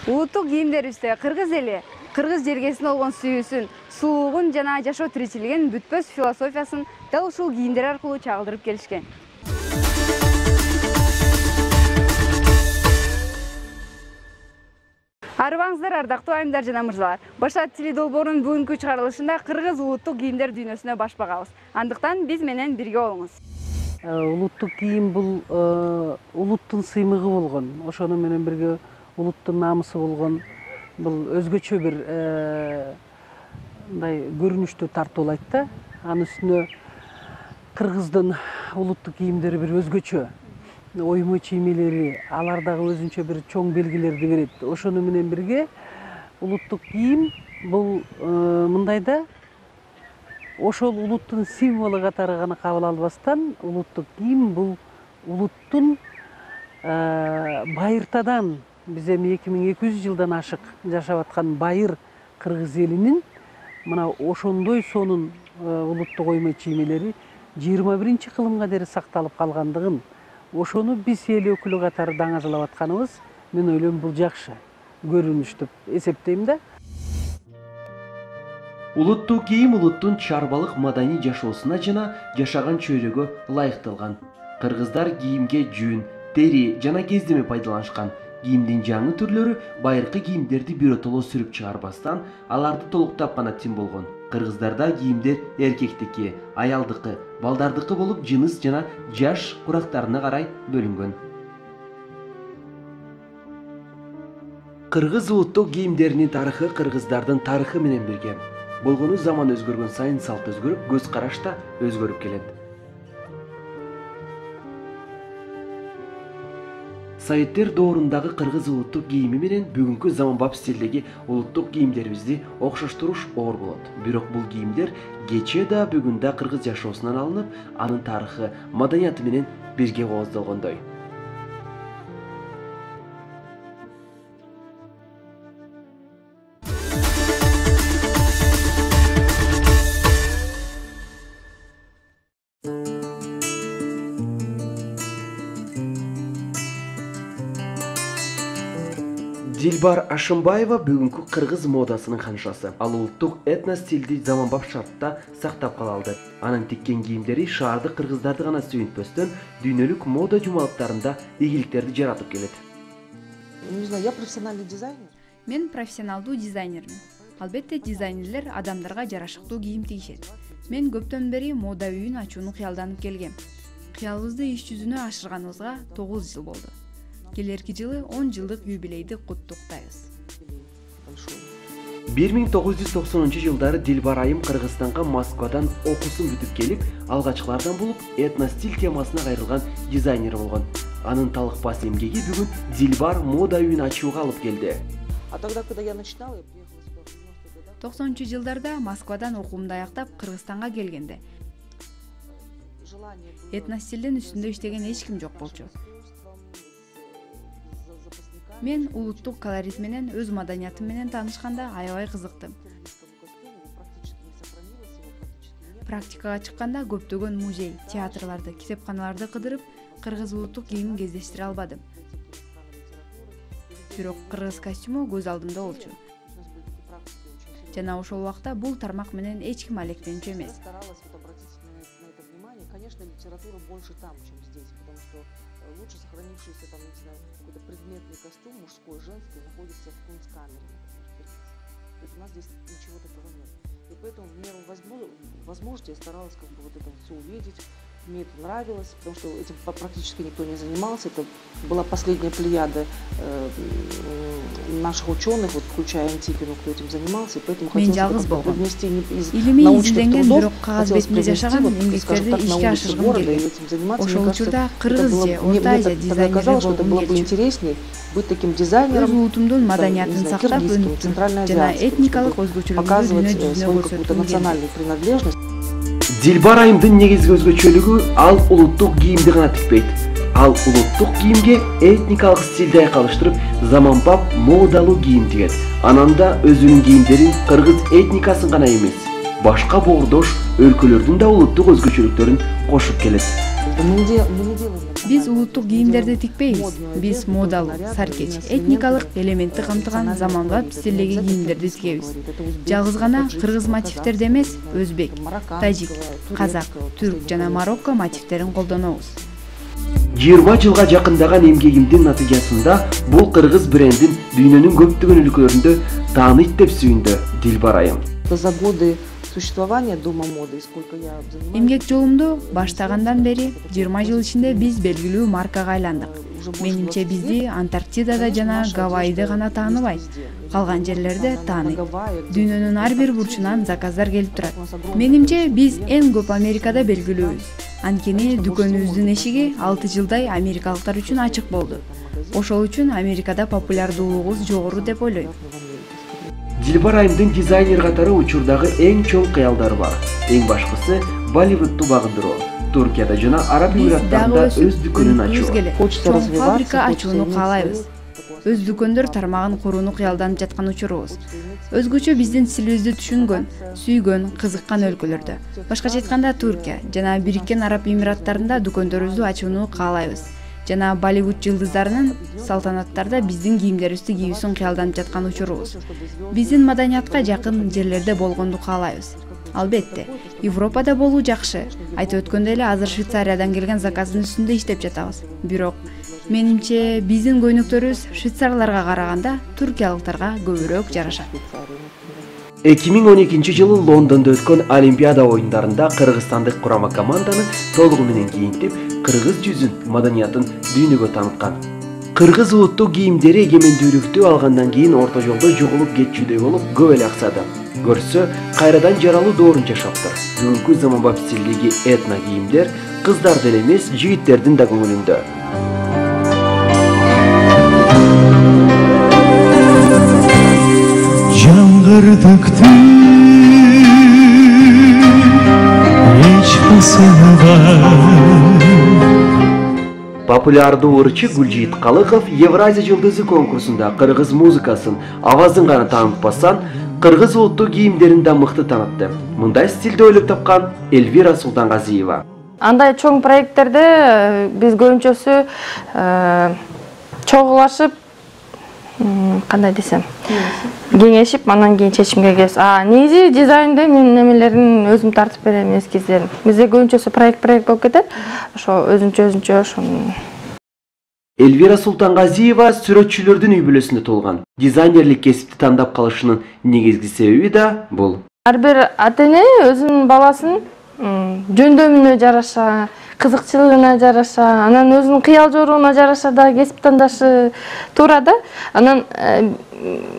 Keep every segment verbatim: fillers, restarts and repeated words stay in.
Улуттук кийимдерибизде кыргыз эли кыргыз жергесине болгон сүйүүсүн, сулуулугун жана жашоо тиричилигин бүтпөс философиясын дал ушул кийимдер аркылуу чагылдырып келишкен. Арыбаңыздар, ардактуу айымдар жана мырзалар. Башат тили долбоорунун бүгүнкү чыгарылышында кыргыз улуттук кийимдер дүйнөсүнө баш багабыз. Андыктан биз менен бирге болуңуз. Улуттук кийим бул улуттун сыймыгы болгон. Ошону менен бирге улуттун намысы болгон. Бул өзгөчө бир мындай көрүнүштү тартуулайт да. Анын үстүнө кыргыздын улуттук кийимдери бир өзгөчө. Оймо чиймелери, алар дагы өзүнчө бир чоң белгилерди берет. Ошону менен бирге улуттук кийим бул мындай да, ошол улуттун символу катары гана кабыл албастан, улуттук кийим бул улуттун байыртадан, биз эми эки миң эки жүз жылдан ашык жашап аткан байыр кыргыз элинин мына ошондой сонун улуттук оймо чиймелери жыйырма биринчи кылымга дейин сакталып калгандыгын, ошону биз эл өкүлү катары даңазалап атканыбыз, мен ойлойм бул жакшы көрүнүш деп эсептейм да. Улуттук кийим улуттун чарбалык маданий жашоосуна жана жашаган чөйрөгө ылайыкталган. Кыргыздар кийимге жүн, тери жана кездеме пайдаланышкан. Кийимдин жаңы түрлөрү байыркы кийимдерди биротоло сүрүп чыгарбастан, аларды толуктап гана тим болгон. Кыргыздарда кийимдер эркектики, аялдыкы, балдардыкы болуп, жыныс жана жаш курактарына карай бөлүнгөн. Кыргыз улуттук кийимдеринин тарыхы кыргыздардын тарыхы менен бирге. Болгону заман өзгөргөн сайын салт өзгөрүп, көз караш да өзгөрүп келет. Советтер доорундагы кыргыз улуттук кийими менен бүгүнкү заманбап стилдеги улуттук кийимдерибизди окшоштуруш оор болот. Бирок бул кийимдер кечээ да бүгүн да кыргыз жашоосунан алынып, анын тарыхы, маданияты менен бирге кооздолгондой. Дилбар Ашымбаева бүгүнкү кыргыз модасынын ханышасы. Ал улуттук этно стилди заманбап шартта сактап кала алды. Анын тиккен кийимдери шаардык кыргыздарды гана сүйүнтпөстөн, дүйнөлүк мода жумалыктарында ийгиликтерди жаратып келет. Не знаю, я профессиональный дизайнер. Мен профессионалдуу дизайнермин. Албетте дизайнерлер адамдарга жарашыктуу кийим тигишет. Мен көптөн бери мода үйүн ачууну кыялданып келгем. Кыялыбызды иш жүзүнө ашырганыбызга тогуз жыл болду. Келерки жылы он жылдык юбилейди куттуктайбыз. бир миң тогуз жүз токсонунчу жылдары Дилбар айым Кыргызстанга Москвадан окуусун бүтүп келип, алгачкылардан болуп, этно-стиль темасына кайрылган дизайнер болгон. Анын талыкпас эмгеги бүгүн Дилбар мода үйүн ачууга алып келди. А тогда, когда я начинала, я приехала сюда в девяностых годах. токсонунчу жылдарда Москвадан окуумду аяктап Кыргызстанга келгенде этно-стилдин үстүндө иштеген эч ким жок болчу. Мен улуттук колорит менен, өз маданиятым менен таанышканда аябай кызыктым. Практикага чыкканда көптөгөн музей, театрларды, китепканаларды кыдырып, кыргыз улуттук кийимин кездештире албадым. Бирок кыргыз костюму көз алдымда болчу. Жана ошол убакта бул тармак менен эч ким алектенчү эмес. Конечно, литература больше там, чем здесь, потому что лучше сохранившийся там, не знаю, какой-то предметный костюм мужской, женский находится в кунсткамере, например. То есть у нас здесь ничего такого нет. И поэтому в меру возможности я старалась как бы вот это все увидеть. Мне это нравилось, потому что этим практически никто не занимался. Это была последняя плеяда э, наших ученых, вот, включая Антипину, кто этим занимался. И поэтому хотелось привнести из научных трудов, хотелось привнести, вот, скажем так, на улице города и этим заниматься. Мне кажется, это было, мне, мне тогда казалось, что это было бы интереснее быть таким дизайнером, там, не знаю, киргизским, центральноазиатским, показывать свою какую-то национальную принадлежность. Дилбар айымдын негизги өзгөчөлүгү ал улуттук кийимди гана тикпейт. Ал улуттук кийимге этникалык стилди айкалыштырып, заманбап модалуу кийим тигет. Анан да өзүнүн кийимдерин кыргыз этникасын гана эмес, башка боордош өлкөлөрдүн да улуттук өзгөчөлүктөрүн кошуп келет. Биз улуттук кийимдерди тикпейбиз. Биз модалуу, саркеч, этникалык элементти камтыган заманбап стилдеги кийимдерди тигебиз. Жалгыз гана кыргыз мотивтерди эмес, өзбек, тажик, казак, түрк жана марокко мотивтерин колдонобуз. жыйырма жылга жакындаган эмгегимдин натыйжасында бул кыргыз брендин дүйнөнүн көптөгөн өлкөлөрүндө тааныйт деп сүйүндү Дилбар айым. За годы существования Дома моды, сколько я занимаюсь. Эмгек жолумду баштагандан бери жыйырма жыл ичинде биз белгилүү маркага айландык. Менимче бизди Антарктидада жана Гавайиде гана тааныбайт, калган жерлерде тааныйт. Дүйнөнүн ар бир бурчунан заказдар келип турат. Менимче биз эң көп Америкада белгилүүбүз. Анткени дүкөнүбүздүн эшиги алты жылдай америкалыктар үчүн ачык болду. Ошол үчүн Америкада популярдуулугубуз жогору деп ойлойм. Дилбар айымдын дизайнер катары учурдагы эң чоң кыялдары бар. Эң башкысы Болливудту багындыруу. Туркияда жана Араб Эмираттарында өз дүкөнүн ачуу. Чоң фабрика ачууну каалайбыз. Өз дүкөндөр тармагын курууну кыялданып жаткан учурубуз. Өзгөчө биздин стилибизди түшүнгөн, сүйгөн, кызыккан өлкөлөрдө, башкача айтканда Туркия жана Бириккен Араб Эмираттарында дүкөндөрүбүздү ачууну каалайбыз. Жана Болливуд жылдыздарынын салтанаттарда биздин кийимдерибизди кийүүсүн кыялданып жаткан учурубуз. Биздин маданиятка жакын жерлерде болгонду каалайбыз. Албетте, Европада болуу жакшы. Айтып өткөндөй эле азыр Швейцариядан келген заказдын үстүндө иштеп жатабыз. Бирок менимче биздин көйнөктөрүбүз швейцарларга караганда туркиялыктарга көбүрөөк жарашат. эки миң он экинчи жылы Лондондо өткөн Олимпиада оюндарында кыргызстандык курама команданы толугу менен кийинтип, кыргыз жүзүн, маданиятын дүйнөгө тааныткан. Кыргыз улуттук кийимдери эгемендүүлүктү алгандан кийин орто жолдо жоголуп кетчүдөй болуп көп эле аксады. Көрсө, кайрадан жаралуу доорун жашаптыр. Бүгүнкү заманбап стилдеги этно кийимдер кыздардын эле эмес, жигиттердин да көңүлүндө. Жаңгырдыктын эч басымы бар. Популярдуу ырчы Гүлжийит Калыков Евразия жылдызы конкурсунда кыргыз музыкасын, авазын гана таанытпастан, кыргыз улуттук кийимдерин да мыкты таанытты. Мындай стилди ойлоп тапкан Эльвира Султангазиева. Андай чоң проекттерде биз көбүнчөсү чогулашып, кандай десем, кеңешип, анан кийин чечимге келебиз. А негизи дизайнды мен немелерин өзүм тартып берем, эскиздерин. Бизде көбүнчөсү проект проект болуп кетет. Ошо өзүнчө-өзүнчө ошону. Эльвира Султангазиева сүрөтчүлөрдүн үй бүлөсүндө туулган. Дизайнерлик кесипти тандап калышынын негизги себеби да бул. Ар бир ата-эне өзүнүн баласын жөндөмүнө жараша, кызыкчылыгына жараша, анан өзүнүн кыял жоруна жараша да кесип тандашы туура да. Анан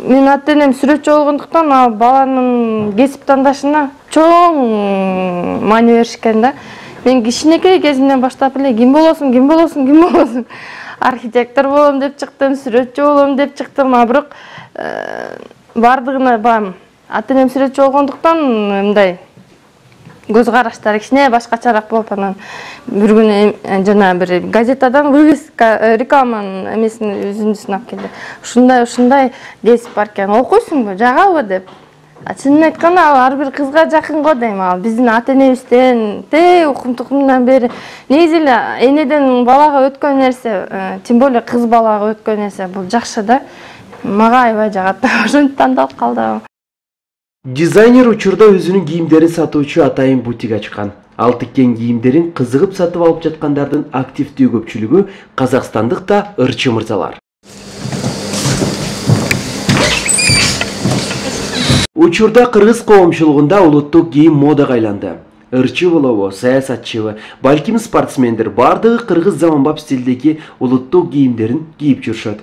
мен ата-энем сүрөтчү болгондуктан ал баланын кесип тандашына чоң маани беришкен да. Мен кичинекей кезимден баштап эле ким болосуң, ким болосуң, ким болосуң, архитектор болом деп чыктым, сүрөтчү болом деп чыктым, а бирок бардыгына бам ата-энем сүрөтчү болгондуктан мындай көз караштары кичине башкачараак болуп, анан бир күнү жана бир газетадан вывеска рекламанын эмесин үзүндүсүн алып келди. Ушундай ушундай кесип бар экен, окуйсуңбу, жагабы деп. Чынын айтканда ал ар бир кызга жакын го дейм. Ал биздин ата-энебизден те укум тукумундан бери негизи эле энеден балага өткөн нерсе, тем более кыз балага өткөн нерсе бул жакшы да. Мага аябай жагат. Ошентип тандалып калдым. Дизайнер учурда өзүнүн кийимдерин сатуучу атайын бутик ачкан. Ал тиккен кийимдерин кызыгып сатып алып жаткандардын активдүү көпчүлүгү казакстандык да ырчы мырзалар. Учурда кыргыз коомчулугунда улуттук кийим модага айланды. Ырчы болобу, саясатчыбы, балким спортсмендер бардыгы кыргыз заманбап стилдеги улуттук кийимдерин кийип жүрүшөт.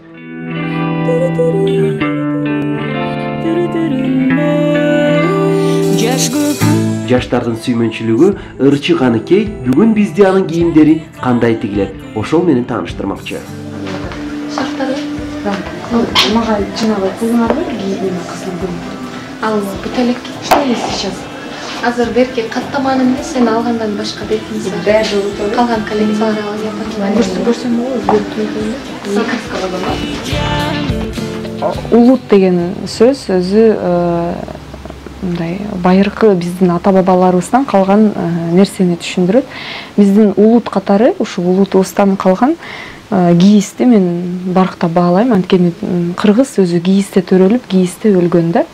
Жаштардын сүймөнчүлүгү ырчы Каныкей бүгүн бизде анын кийимдери кандай тигилет, ошол менен тааныштырмакчы. Шарттары? Мага жанагы кызыңарбы кийген кыздын. Ал бутелек иштейбиз сейчас. Азыр берки каттаманы эмес, сен алгандан башка бетиңиз бар. Баары жолу. Калган коллекциялар алып жатам. Көрсөм болобу? Улут деген сөз өзү мындай байыркы биздин ата бабаларыбыздан калган нерсени түшүндүрөт. Биздин улут катары ушул улутубуздан калган кийизди мен барктап баалайм. Анткени кыргыз өзү кийизде төрөлүп, кийизде өлгөн да.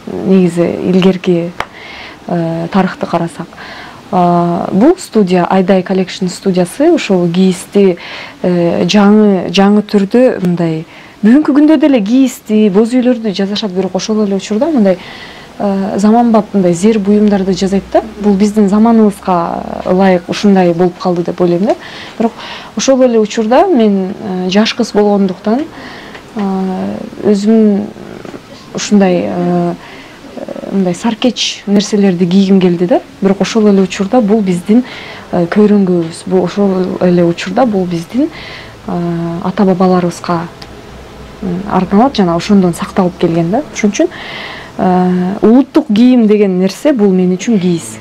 Негизи илгерки тарыхты карасак. Бул студия Айдай Collection студиясы ошол кийизди жаңы жаңы түрдө мындай бүгүнкү күндө деле кийизди, боз үйлөрдү жасашат, бирок ошол эле учурда мындай заманбап мындай зер буюмдарды жасайт да. Бул биздин заманыбызга ылайык ушундай болуп калды деп ойлойм да. Бирок ошол эле учурда мен жаш кыз болгондуктан өзүм ушундай мындай саркеч нерселерди кийгим келди да. Бирок ошол эле учурда бул биздин көйрөңгүбүз. Бул ошол эле учурда бул биздин ата бабаларыбызга арналып жана ошондон сакталып келген да. Ошон үчүн улуттук кийим деген нерсе бул мен үчүн кийиз.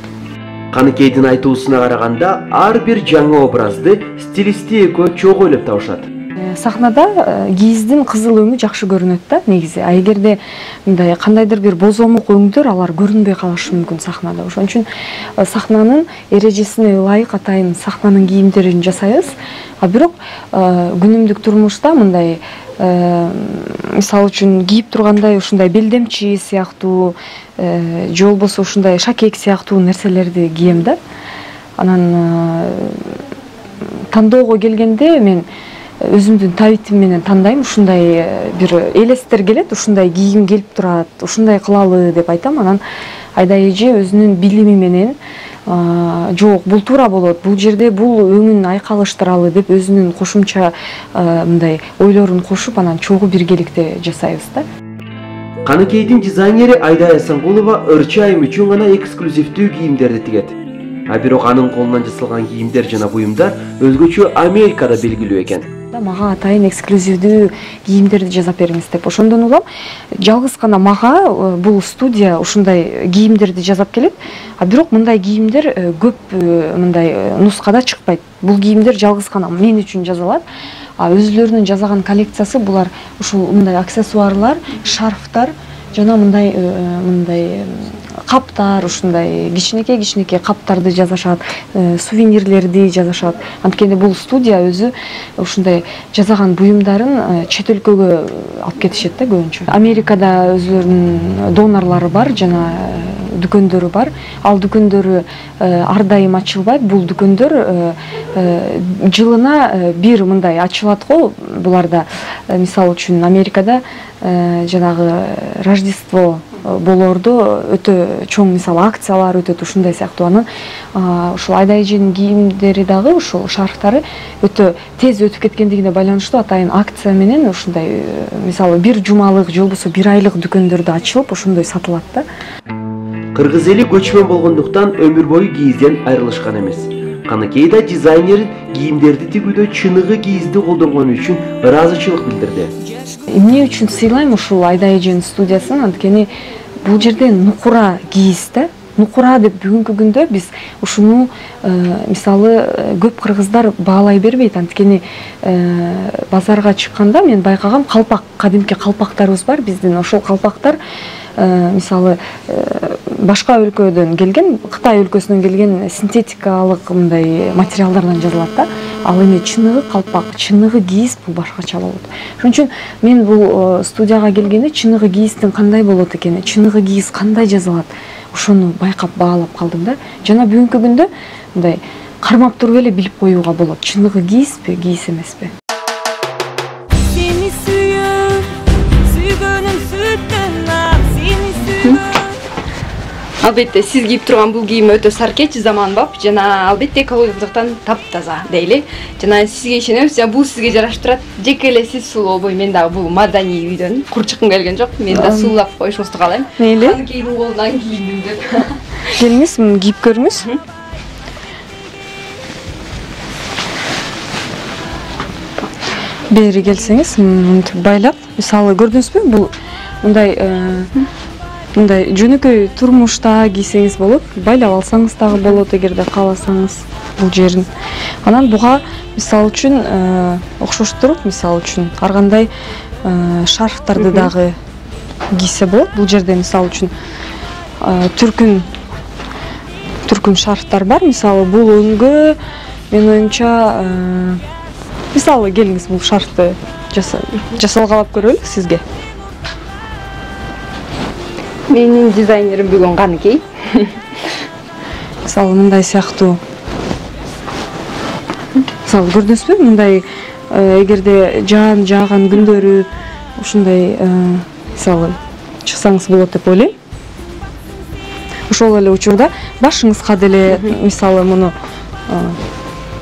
Каныкейдин айтуусуна караганда ар бир жаңы образды стилисти экөө чогуу ойлоп табышат. Сахнада кийиздин кызыл өңү жакшы көрүнөт да негизи. А эгерде мындай кандайдыр бир бозомук өңдөр алар көрүнбөй калышы мүмкүн сахнада. Ошон үчүн сахнанын эрежесине ылайык атайын сахнанын кийимдерин жасайбыз. А бирок күнүмдүк турмушта мындай мисалы үчүн кийип тургандай ушундай белдемчи сыяктуу же болбосо ушундай шакек сыяктуу нерселерди кием да. Анан тандоого келгенде мен өзүмдүн табитим менен тандайм. Ушундай бир элестер келет, ушундай кийгим келип турат, ушундай кылалы деп айтам. Анан Айдай эже өзүнүн билими менен жок, бул туура болот, бул жерде бул өңүн айкалыштыралы деп өзүнүн кошумча мындай ойлорун кошуп, анан чогуу биргеликте жасайбыз да. Каныкейдин дизайнери Айдай Асангулова ырчы айым үчүн гана эксклюзивдүү кийимдерди тигет. А бирок анын колунан жасалган кийимдер жана буюмдар өзгөчө Америкада белгилүү экен. Мага атайын эксклюзивдүү кийимдерди жасап бериңиз деп. Ошондон улам жалгыз гана мага бул студия ушундай кийимдерди жасап келет. А бирок мындай кийимдер көп мындай нускада чыкпайт. Бул кийимдер жалгыз гана мен үчүн жасалат. А өзүлөрүнүн жасаган коллекциясы булар ушул мындай аксессуарлар, шарфтар жана мындай мындай каптар, ушундай кичинекей-кичинекей каптарды жасашат, сувенирлерди жасашат. Анткени бул студия өзү ушундай жасаган буюмдарын чет өлкөгө алып кетишет да көбүнчө. Америкада өзүлөрүнүн донорлору бар жана дүкөндөрү бар. Ал дүкөндөрү ар дайым ачылбайт. Бул дүкөндөр жылына бир мындай ачылат го. Буларда мисалы үчүн Америкада жанагы Рождество болордо өтө чоң мисалы акциялар өтөт, ушундай сыяктуу. Анан ушул Айдай эженин кийимдери дагы ушул шарфтары өтө тез өтүп кеткендигине байланыштуу атайын акция менен ушундай мисалы бир жумалык же болбосо бир айлык дүкөндөрдө ачылып ошондой сатылат да. Кыргыз эли көчмөн болгондуктан өмүр бою кийизден айрылышкан эмес. Каныкейда дизайнер кийимдерди тигүүдө чыныгы кийизди колдонгону үчүн ыраазычылык билдирди. Эмне үчүн сыйлайм ушул Айдай эженин студиясын? Анткени бул жерде нукура кийиз да. Нукура деп бүгүнкү күндө биз ушуну мисалы көп кыргыздар баалай бербейт. Анткени базарга чыкканда мен байкагам, калпак, кадимки калпактарыбыз бар биздин. Ошол калпактар мисалы башка өлкөдөн келген, Кытай өлкөсүнөн келген синтетикалык мындай материалдардан жасалат да. Ал эми чыныгы калпак, чыныгы кийиз бул башкача болот. Ошон үчүн мен бул студияга келгенде чыныгы кийиздин кандай болот экени, чыныгы кийиз кандай жасалат, ошону байкап баалап калдым да. Жана бүгүнкү күндө мындай кармап туруп эле билип коюуга болот. Чыныгы кийизби, кийиз эмеспи? Албетте сиз кийип турган бул кийим өтө саркеч, заманбап жана албетте экологиялыктан таптаза дейли. Жана сизге ишенебиз, бул сизге жарашып турат. Жеке эле сиз сулуу болбой, мен дагы бул маданий үйдөн кур чыккым келген жок. Мен да суулап коюшуңузду каалайм. Мейли. Каныкейдин колунан кийиндим деп. Келиңиз, кийип көрүңүз. Бери келсеңиз, мынтип байлап, мисалы көрдүңүзбү? Бул мындай мындай жөнөкөй турмушта кийсеңиз болот, байлап алсаңыз дагы болот эгерде кааласаңыз бул жерин. Анан буга мисалы үчүн окшоштуруп, мисалы үчүн ар кандай шарфтарды дагы кийсе болот. Бул жерде мисалы үчүн түркүн түркүн шарфтар бар. Мисалы бул өңгө мен оюмча мисалы келиңиз бул шарфты жасалгалап көрөлү сизге. Менин дизайнерим бүгүн каныкей. Мисалы мындай сыяктуу. Мисалы көрдүңүзбү? Мындай эгерде жаан жааган күндөрү ушундай мисалы чыксаңыз болот деп ойлойм. Ошол эле учурда башыңызга деле мисалы муну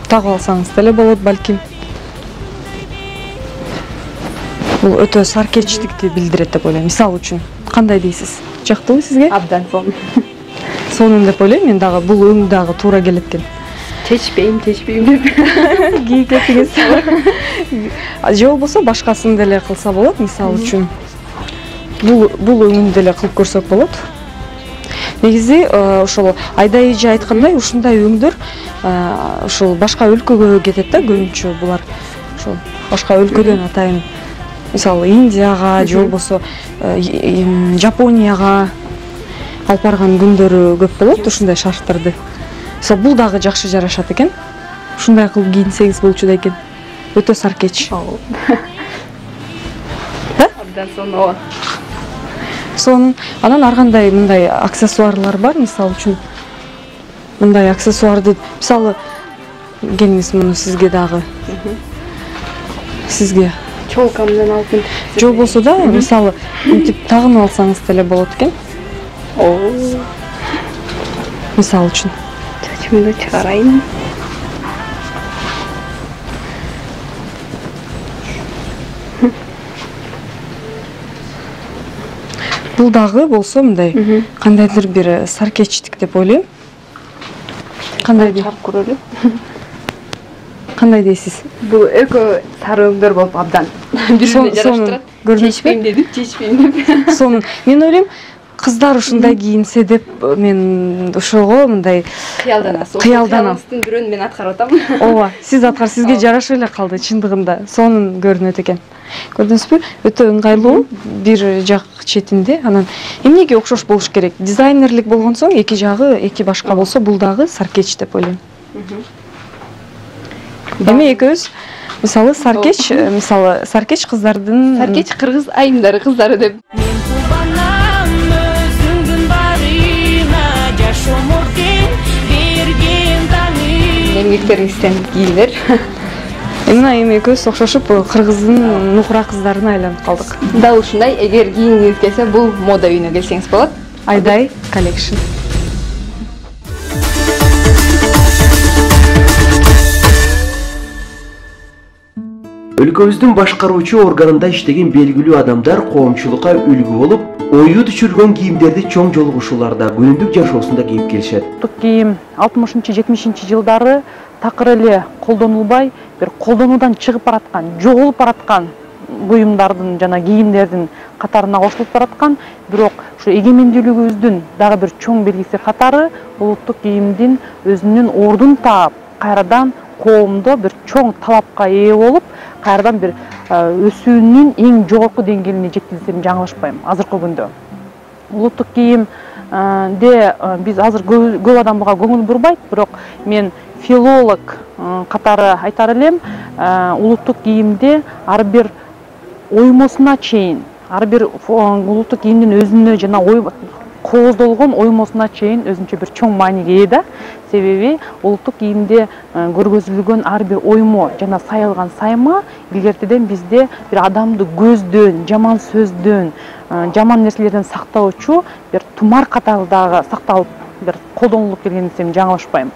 тагып алсаңыз деле болот балким. Бул өтө саркечтикти билдирет деп ойлойм. Мисалы үчүн кандай дейсиз? Жактыбы сизге? Абдан сонун. Сонун деп ойлойм. Мен дагы бул өң дагы туура келет экен. Чечпейм, чечпейм деп кийип кетиңиз. Же болбосо башкасын деле кылса болот. Мисалы үчүн бул бул өңүн деле кылып көрсөк болот. Негизи ошол Айда эже айткандай ушундай өңдөр ошол башка өлкөгө кетет да көбүнчө булар. Ошол башка өлкөдөн атайын мисалы Индияга же болбосо Жапонияга алып барган күндөрү көп болот ушундай шарфтарды. Мисалы бул дагы жакшы жарашат экен. Ушундай кылып кийинсеңиз болчу да экен. Өтө саркеч. Абдан сонун. Сонун. Анан ар кандай мындай аксессуарлар бар, мисалы үчүн. Мындай аксессуарды, мисалы келиңиз муну сизге дагы. Сизге чолка менен алып мынтип. Же болбосо да, мисалы мынтип тагынып алсаңыз деле болот экен. Оо. Мисалы үчүн. Чачымды чыгарайын. Бул дагы болсо мындай кандайдыр бир саркечтик деп ойлойм. Кандай чарп көрөлү? Кандай дейсиз? Бул экөө сары өңдөр болуп абдан бири-бирине жараштырат. Чечпейм дедим, чечпейм деп. Сонун. Мен ойлойм, кыздар ушундай кийинсе деп мен ошого мындай кыялданасыз. Кыялданам. Бирөөнү мен аткарып атам. Ооба, сиз аткар, сизге жарашып эле калды чындыгында. Сонун көрүнөт экен. Көрдүңүзбү? Өтө ыңгайлуу, бир жак четинде. Анан эмнеге окшош болуш керек? Дизайнерлик болгон соң эки жагы эки башка болсо, бул дагы саркеч деп ойлойм. Эми экөөбүз мисалы саркеч, мисалы саркеч кыздардын саркеч кыргыз айымдары кыздары деп. Эмгектериңизден кийимдер. Мына эми экөөбүз окшошуп кыргыздын нукура кыздарына айланып калдык. Дал ушундай, эгер кийингиңиз келсе, бул мода үйүнө келсеңиз болот. Айдай коллекшн. Өлкөбүздүн башкаруучу органында иштеген белгилүү адамдар коомчулукка үлгү болуп, ою түшүргөн кийимдерди чоң жолугушууларда, күнүмдүк жашоосунда кийип келишет. Кийим алтымышынчы жетимишинчи жылдары такыр эле колдонулбай, бир колдонуудан чыгып бараткан, жоголуп бараткан буюмдардын жана кийимдердин катарына кошулуп бараткан, бирок ушу эгемендүүлүгүбүздүн дагы бир чоң белгиси катары улуттук кийимдин өзүнүн ордун таап, кайрадан коомдо бир чоң талапка ээ болуп, кайрадан бир өсүүнүн эң жогорку деңгээлине жетти десем жаңылышпайм азыркы күндө. Улуттук кийимде биз азыр көп адам буга көңүл бурбайт, бирок мен филолог катары айтар элем, улуттук кийимде ар бир оймосуна чейин, ар бир улуттук кийимдин өзүнө жана кооздолгон оймосуна чейин өзүнчө бир чоң мааниге ээ да. Себеби улуттук кийимде көргөзүлгөн ар бир оймо жана сайылган сайма илгертеден бизде бир адамды көздөн, жаман сөздөн, жаман нерселерден сактоочу бир тумар катары дагы сакталып, бир колдонулуп келген десем жаңылышпайм.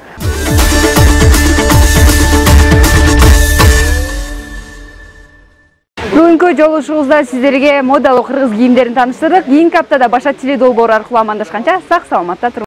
Бүгүнкү жолугушуубузда сиздерге модалуу кыргыз кийимдерин тааныштырдык. Кийинки аптада башка теле долбоор аркылуу амандашканча сак саламатта туруңуздар.